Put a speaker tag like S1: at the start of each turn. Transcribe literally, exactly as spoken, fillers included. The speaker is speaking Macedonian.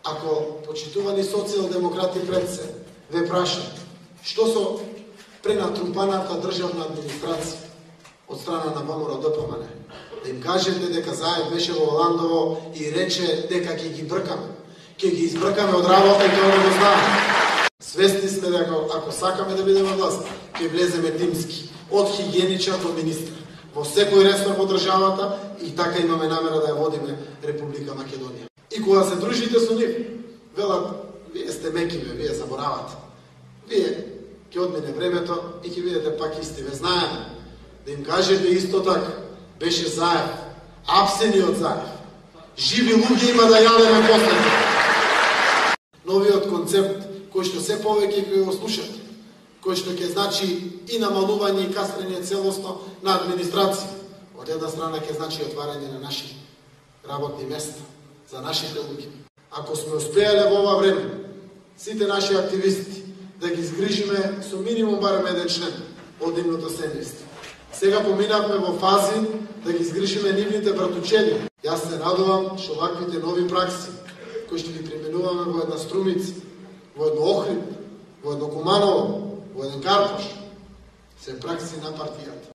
S1: Ако почитувани социјалдемократи пред се ве прашат што со пренатрупаната државна администрација од страна на ВМРО-ДПМН, да им кажете дека Заев беше во Ландово и рече дека ќе ги бркаме. Ќе ги избркаме од работа и тоа да го знаеме. Свесни сме дека ако сакаме да бидеме власт, ќе влеземе тимски, од хигиеничар до министр, во секој ресор во државата и така имаме намера да ја водиме Република Македонија. И кога се дружите со нив, велат, вие сте мекиве, вие заборавате. Вие ќе одмине времето и ќе видите пак исти, ве знаеме. Да им кажете исто така, беше Заев, апсениот Заев. Живи луѓе има да јадеме после. Новиот концепт, кој што се повеќе ќе го слушате, кој што ќе значи и намалување и касрење целосно на администрација. Од една страна ќе значи отварање на наши работни места, за нашите луѓе. Ако сме успеале во ова време, сите наши активисти, да ги згрижиме со минимум барем еден член од нивното семејство. Сега поминавме во фази да ги згрижиме нивните братучеди. Јас се радувам што ваквите нови пракси, кои што ги применуваме во една Струмица, во едно Охрид, во едно Куманово, во еден Карпош, се пракси на партијата.